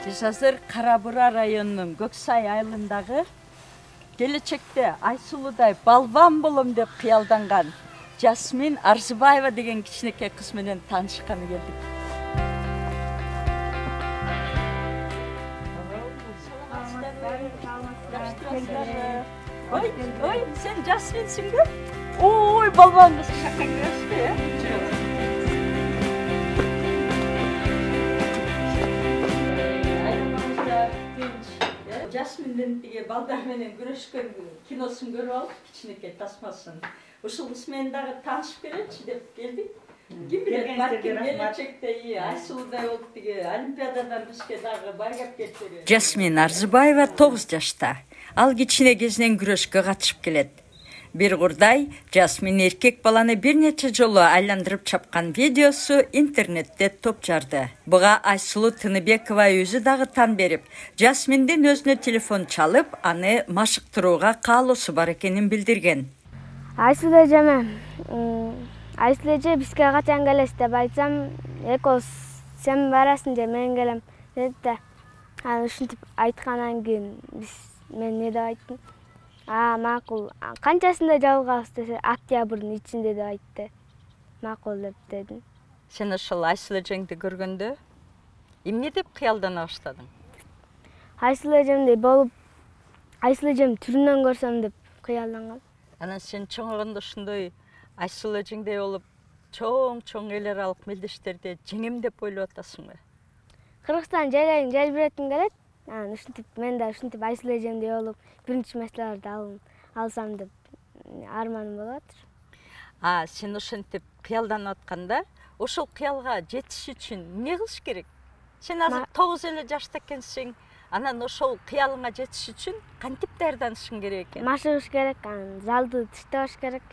Биз азыр Кара Бура районунун Көксай айылындагы келечекте Айсулудай балбан болом деп кыялданган Жасмин Арзыбаева деген кичинекей кыз менен таанышканы келдик. Ой, сен Жасминсиңби? Ой, балбан кыз шака көрөсүзбү? Жасминден тиги балдар менен күрөшкөн киносун көрүп алып, кичинекей тасмасын. Ушул кыз менен дагы таанышып беречи деп келдик. Ким билет, балким келечекте Айсулудай болуп тиги Олимпиададан бизге дагы байгап кетсе. Жасмин Арзыбаева 9 жашта. Ал кичине кезинен күрөшкө катышып келет. Бир курдай Жасмин эркек баланы бир нече жолу айландырып чапкан видеосу интернетте топ жарды. Буга Айсулу Тыныбекова өзү дагы тан берип, Жасминдин өзүнө телефон чалып, аны машыктырууга каалоосу бар экенин билдирген. Айсулу эже бизге качан келесиз деп айтсам, экөөбүз сен барасың же мен келем деди да. Анан ушинтип айткандан кийин мен эмне деп айттым? Макул. Канчасында жабылганбыз десе, октябрдын ичинде деп айтты. Макул деп дедим. Сен ошол Айсулу эжеңди көргөндө эмне деп кыялдана баштадың? Айсулу эжемдей болуп, Айсулу эжем түрүнөн көрсөм деп кыялданган. Анан сен чоңойгондо ушундай Айсулу эжеңдей болуп, чоң эл аралык мелдештерде жеңем деп ойлоп атасыңбы? Кыргызстан желбиретим келет. Ушинтип мен да ушинтип Айсулу эжемдей болуп, биринчи меселерди алсам деп арманым болуп атыр. Сен ошентип кыялданып атканда, ошол кыялга жетиш үчүн эмне кылыш керек? Сен азыр 9 эле жашта экенсиң. Анан ошол кыялыңа жетиш үчүн кантип даярданышың керек экен? Машыгыш керек, залды тыштабаш керек.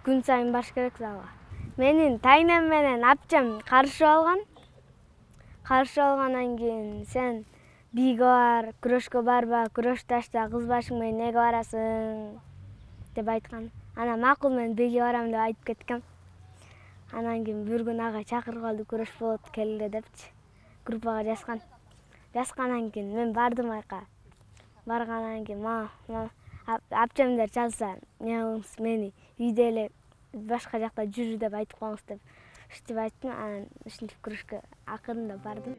Күн сайын барыш керек залга. Менин тайнем менен апчам карышып алган. Каршы алгандан кийин сен бийге бар, күрөшкө барба, күрөш ташта, кыз башың менен неге барасың деп айткан. Анан макул мен бийге барам деп айтып кеткем. Анан кийин бир күн ага чакырып алды, күрөш болот келгиле депчи. Группага жазган. Жазгандан кийин мен бардым айка. Баргандан кийин апчамдар чалса, эмне кылыңыз мени үйдө эле башка жакта жүрү деп айтып коюңуз деп. Ушинтип айттым, анан ушинтип күрөшкө акырында бардым.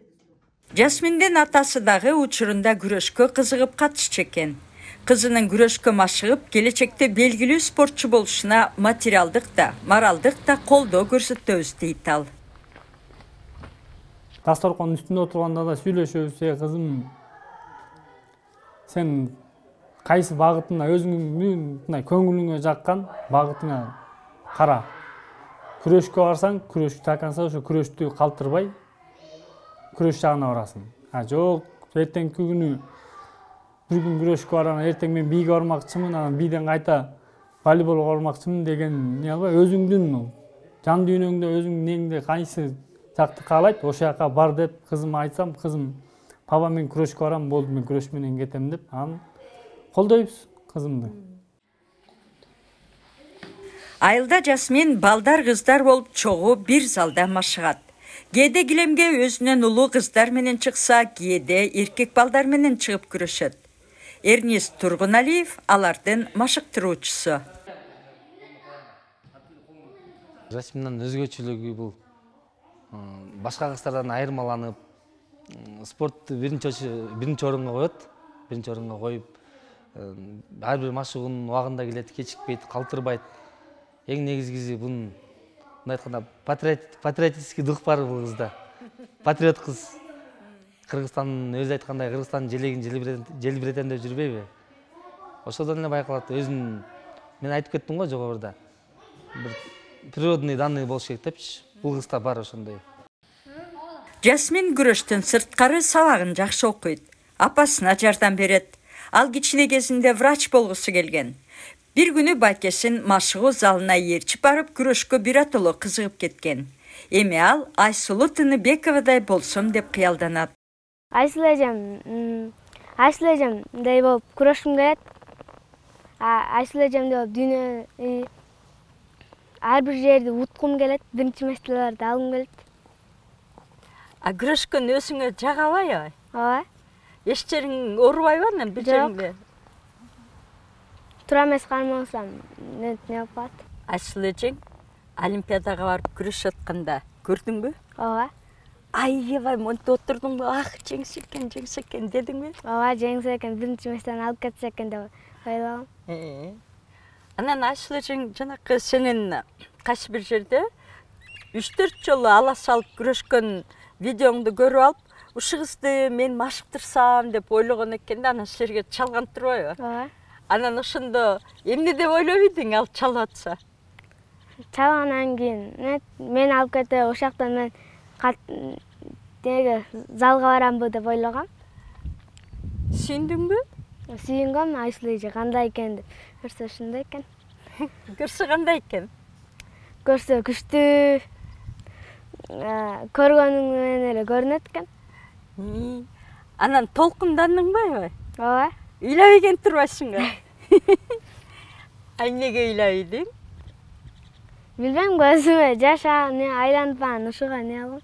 Жасминдин атасы дагы учурунда күрөшкө кызыгып катышчу экен. Кызынын күрөшкө машыгып, келечекте белгилүү спортчу болушуна материалдык да, моралдык да колдоо көрсөтөбүз дейт ал. Дасторкондун үстүндө отурганда да сүйлөшөбүз, кызым, сен кайсы багытына өзүңдүн көңүлүңө жаккан багытыңа кара. Күрөшкө барсаң, күрөш таканса, ошо күрөштү калтырбай, күрөш жагына барасың. Жок, эртеңки күнү бир күн күрөшкө барам, эртең мен бийге бармакчымын, анан бийден кайта волейболго бармакчымын деген эмне албай, өзүңдүн жан дүйнөңдө, өзүңдүн неңде кайсы жакты каалайт, ошол жака бар деп кызыма айтсам, кызым, папа мен күрөшкө барам, болду мен күрөш менен кетем деп, анан колдойбуз кызымды. Айылда Жасмин балдар кыздар болуп чогуу бир залда машыгат. Кээде килемге өзүнөн улуу кыздар менен чыкса, кээде эркек балдар менен чыгып күрөшөт. Эрнис Тургуналиев алардын машыктыруучусу. Жасминдин өзгөчөлүгү бул башка кыздардан айырмаланып, спортту биринчи орунга коет. Биринчи орунга коюп, ар бир машыгуунун убагында келет, кечикпейт, калтырбайт. Эң негизгиси бунун мындай айтканда патриотический дух бар бул кызда. Патриот кыз. Кыргызстандын өзү айткандай, Кыргызстандын желегин желбиретем деп жүрбөйбү? Ошодон эле байкалат. Өзүнүн мен айтып кеттим го жогоруда. Бир природный данный болуш керек депчи. Бул кызда бар ошондой. Жасмин күрөштөн сырткары сабагын жакшы окуйт. Апасына жардам берет. Ал кичине кезинде врач болгусу келген. Бир күнү байкесин машыгуу залына ээрчип барып, күрөшкө биротоло кызыгып кеткен. Эми ал Айсулу Тыныбековадай болсом деп кыялданат. Айсулу эжемдей болуп күрөшкүм келет. Айсулу эжемдей болуп дүйнө ар бир жерди уткум келет, биринчи меселерди алгым келет. А күрөшкөн өзүңө жагабайбы? Ооба. Эч жериң оорубайбы анан бир жериңде? Туура эмес кармасам, не болуп калат? Айсыл эжең Олимпиадага барып күрөшүп атканда көрдүңбү? Ооба. Аябай монтип отурдуңбу? Ах, жеңсе экен дедиңби? Ооба, жеңсе экен, биринчи месттен алып кетсе экен деп ойлогом. Анан Айсыл эжең жанакы сенин кайсы бир жерде 3-4 жолу ала салып күрөшкөн видеоңду көрүп алып, ушул кызды мен машыктырсам деп ойлогон экен да, анан силерге чалган турбайбы? Ооба. Анан ошондо эмне деп ойлоп идиң ал чалып атса? Чалгандан кийин мен алып кетип, ошол жактан мен деге залга барамбы деп ойлогом. Сүйүндүңбү? Сүйүнгөм, Айсыл эже кандай экен деп. Көрсө ушундай экен. Көрсө кандай экен? Көрсө күчтүү, көргөнүң менен эле көрүнөт экен. Анан толкундандыңбы? Ооба. Ыйлабай экен турбайсыңбы? Ай эмнеге ыйлап идиң? Билбейм, көзүмө жаш айланып анан ушуга не кылдым.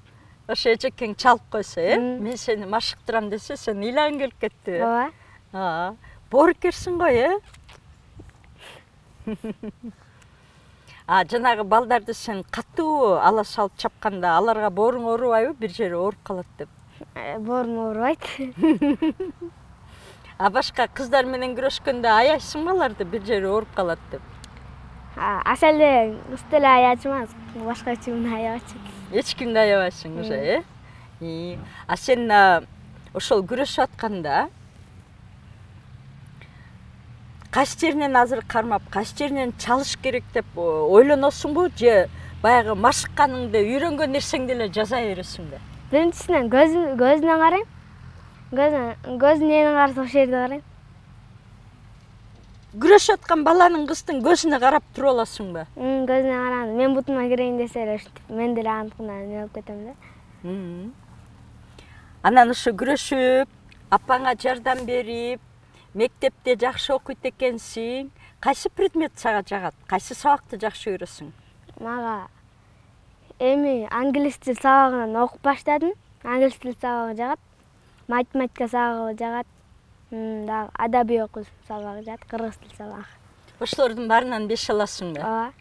Ошо эжекең чалып койсо, мен сени машыктырам десе, сен ыйлагың келип кетти. Ооба. Боорукерсиң го, жанагы балдарды сен катуу ала салып чапканда, аларга бооруң оорубайбы, бир жери ооруп калат деп? Боорум оорубайт. Башка кыздар менен күрөшкөндө аяйсыңбы аларды, бир жери ооруп калат деп? Аселде кыз деле аячумас, башка эч кимди аябачумун. Эч кимди аябайсың уже, А сен ошол күрөшүп атканда кайсы жеринен азыр кармап, кайсы жеринен чалыш керек деп ойлоносуңбу, же баягы машыкканыңды, үйрөнгөн нерсеңди эле жаза бересиңби? Биринчисинен көзүнө карайм. Көзүн эмне караса ошол жерди карайм. Күрөшүп аткан баланын, кыздын көзүнө карап туруп аласыңбы? Көзүнө караганда мен бутума кирейин десе эле ушинтип мен деле аныкына не болуп кетем да. Анан ушу күрөшүп, апаңа жардам берип, мектепте жакшы окуйт экенсиң. Кайсы предмет сага жагат? Кайсы сабакты жакшы көрөсүң? Мага эми англис тил сабагынан окуп баштадым. Англис тил сабагы жагат. Математика сабагы жагат. Дагы адабий окуу сабагы жагат, кыргыз тил сабагы. Ошолордун баарынан 5 аласыңбы? Ооба.